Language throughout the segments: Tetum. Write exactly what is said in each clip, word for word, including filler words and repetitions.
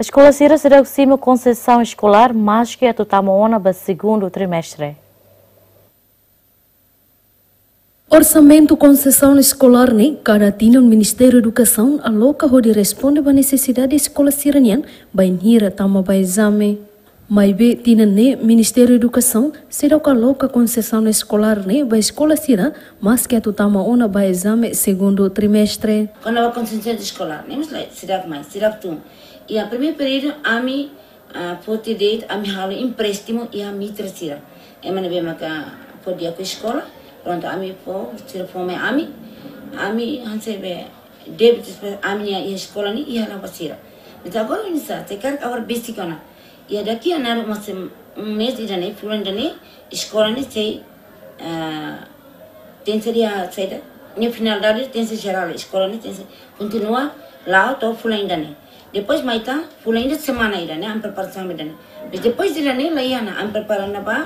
Eskola sira seidauk simu konsesaun eskolár, maski atu tama ona ba segundu trimestre. Orsamentu konsesaun eskolár ne'e kada tinan Ministériu Edukasaun aloka hodi responde ba nesesidade eskola sira-nian bainhira tama ba ezame. Maibé tinan ne'e Ministériu Edukasaun seidauk aloka konsesaun eskolár ne'e ba eskola sira, maski atu tama ona ba ezame segundu trimestre. Kona-ba konsesaun eskolár ne'e, mós lae, seidauk mai, seidauk tun. Iha primeiru períodu ami, ah, foti de'it, ami halo empréstimu iha mitra sira. Ema ne'ebé maka fó di'ak ho eskola, prontu, ami fó, sira fó mai ami, ami hanesan be débitu ba ami-nia iha eskola ne'e iha ona ba sira. Entaun agora oinsá, se karik agora besik ona. Iha daqui a nada, mas, um mês ida-ne'e, fulan ida-ne'e, eskola ne'e sei, ah, tenke ser iha saida, nia finalidade tenke ser jerál, eskola ne'e tenke ser kontinua la'o to'o fulan ida-ne'e. Depois mai tan fulan ida, semana ida-ne'e, ami preparasaun ida-ne'e. Mas depois ida-ne'e, la iha ona, ami prepara ona ba,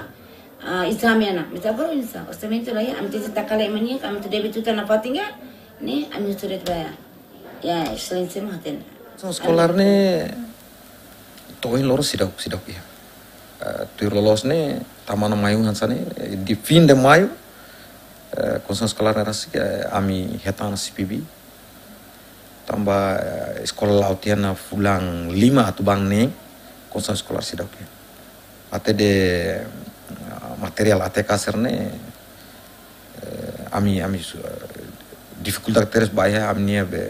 ah, ezame ona. Mas agora oinsá, orsamentu la iha, ami tenke taka lai ema nian, ami tenke débitu tan na fatin ga, ne'e, ami husu de'it ba iha Exelénsia mak hatene. Konsesaun eskolár ne'e to'o ohin loron seidauk, seidauk iha. Eh, tuir loloos ne'e, tama ona maiu hanesan ne'e, eh, iha fin de maiu, eh, konsesaun eskolár ne'e rasik, eh, ami hetan ona C P B. Tanba, eh, eskola la'o tiha ona fulan lima atu ba neen, konsesaun eskolár seidauk iha. Até de, ah, materiál A T K sira-ne'e, eh, ami, ami su-, eh, difikuldade tebes ba iha ami-nia be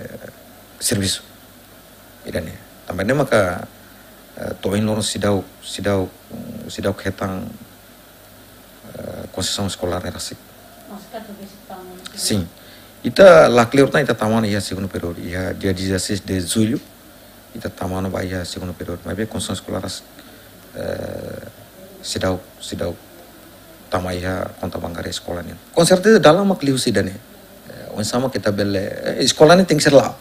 servisu. Ida-ne'e. Tanba ne'e maka, eh, to'o ohin loron seidauk, seidauk, seidauk hetan, eh, konsesaun eskolár ne'e rasik. Maski atu besik tama ona? Sin. Ita la kleur tan, ita tama ona iha segundu períodu, iha dia dezasseis de julho, ita tama ona ba iha segundu períodu. Maibé konsesaun eskolár rasik, eh, seidauk, seidauk tama iha konta bankária eskola nian. Com certeza, dalan mak liuhusi ida-ne'e. Eh, oinsá mak ita bele, eh, eskola ne'e tenke ser la'o.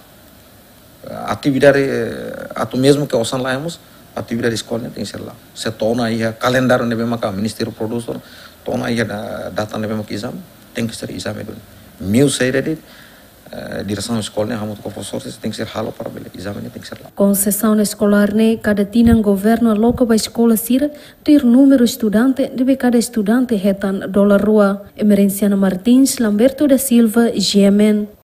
Eh, atividade, eh, atu mezmu ke osan laiha mós, atividade eskola ne'e tenke ser la'o. Se to'o ona iha kalendáriu ne'ebé maka Ministériu prodús, to'o ona iha da-, data ne'ebé maka ezame, tenke ser ezame duni. Meiu saida de'it, eh, diresaun eskola ne'e hamutuk ho profesór sira tenke ser halo para bele ezame ne'e tenke ser la'o. Konsesaun eskolár ne'e kada tinan governu aloka ba eskola sira, tuir númeru estudante, ne'ebé kada estudante hetan dolar rua. Emerenciana Martins, Lamberto da Silva, G M N.